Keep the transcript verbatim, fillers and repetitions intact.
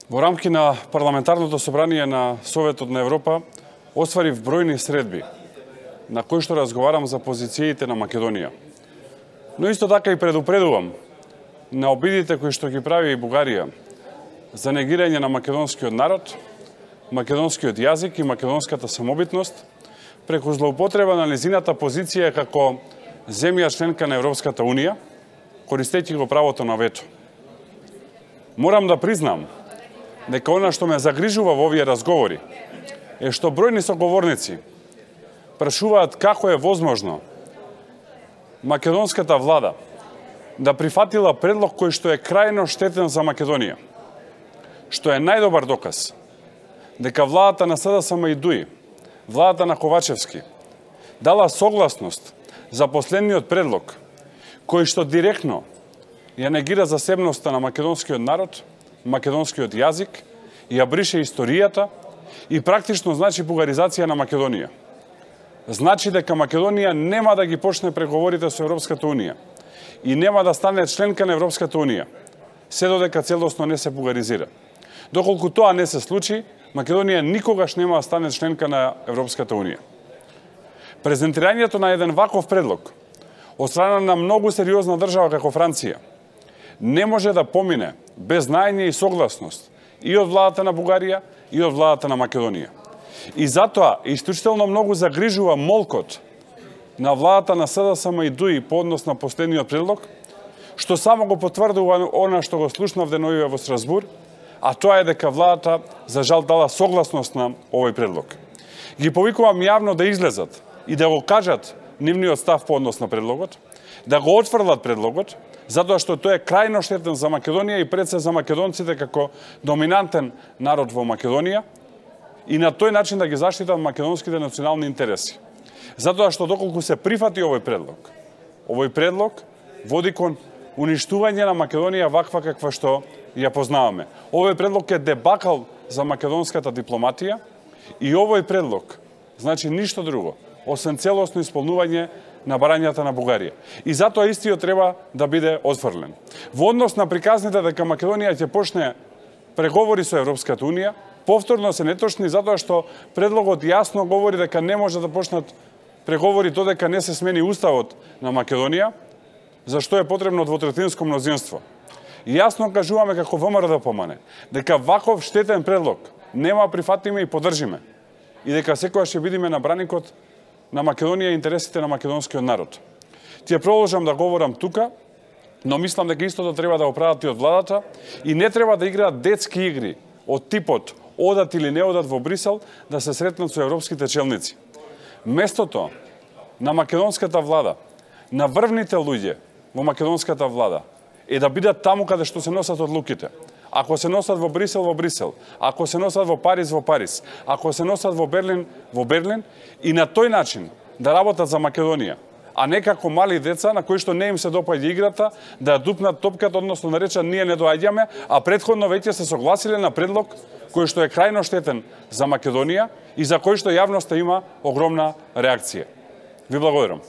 Во рамки на Парламентарното собрание на Советот на Европа остварив бројни средби на кои што разговарам за позициите на Македонија. Но исто така и предупредувам на обидите кои што ги прави и Бугарија за негирање на македонскиот народ, македонскиот јазик и македонската самобитност преку злоупотреба на незината позиција како земја членка на Европската Унија, користејќи го правото на вето. Морам да признам дека она што ме загрижува во овие разговори е што бројни соговорници прашуваат како е возможно македонската влада да прифатила предлог кој што е крајно штетен за Македонија, што е најдобар доказ дека владата на СДСМ и ДУИ, владата на Ковачевски, дала согласност за последниот предлог кој што директно ја негира засебноста на македонскиот народ, македонскиот јазик, ја брише историјата и практично значи бугаризација на Македонија. Значи дека Македонија нема да ги почне преговорите со Европската Унија и нема да стане членка на Европската Унија, се додека целосно не се бугаризира. Доколку тоа не се случи, Македонија никогаш нема да стане членка на Европската Унија. Презентирањето на еден ваков предлог од страна на многу сериозна држава како Франција не може да помине без знаење и согласност и од владата на Бугарија и од владата на Македонија. И затоа исклучително многу загрижува молкот на владата на СДСМ и ДУИ по однос на последниот предлог, што само го потврдува она што го слушнав деновиве во Страсбур, а тоа е дека владата за жал дала согласност на овој предлог. Ги повикувам јавно да излезат и да го кажат нивниот став по однос на предлогот, да го отфрлат предлогот, затоа што тој е крајно штетен за Македонија и пред се за македонците како доминантен народ во Македонија и на тој начин да ги заштитат македонските национални интереси. Затоа што доколку се прифати овој предлог, овој предлог води кон уништување на Македонија ваква каква што ја познаваме. Овој предлог е дебакал за македонската дипломатија и овој предлог значи ништо друго освен целосно исполнување на барањата на Бугарија. И затоа истиот треба да биде отфрлен. Во однос на приказните дека Македонија ќе почне преговори со Европската Унија, повторно се неточни затоа што предлогот јасно говори дека не може да почнат преговори додека не се смени уставот на Македонија, за што е потребно двотретинско мнозинство. И јасно кажуваме како ВМРО-ДПМН дека ваков штетен предлог нема прифатиме и поддржиме и дека секогаш ќе бидеме на браникот на Македонија и интересите на македонскиот народ. Ќе продолжам да говорам тука, но мислам дека истото треба да го прават и од владата и не треба да играат детски игри од типот одат или не одат во Брисел да се сретнат со европските челници. Местото на македонската влада, на врвните луѓе во македонската влада е да бидат таму каде што се носат одлуките. Ако се носат во Брисел, во Брисел. Ако се носат во Париз, во Париз. Ако се носат во Берлин, во Берлин. И на тој начин да работат за Македонија, а не како мали деца на кои што не им се допаѓа играта, да дупнат топката, односно да речат ние не доаѓаме, а претходно веќе се согласиле на предлог кој што е крајно штетен за Македонија и за кој што јавноста има огромна реакција. Ви благодарам.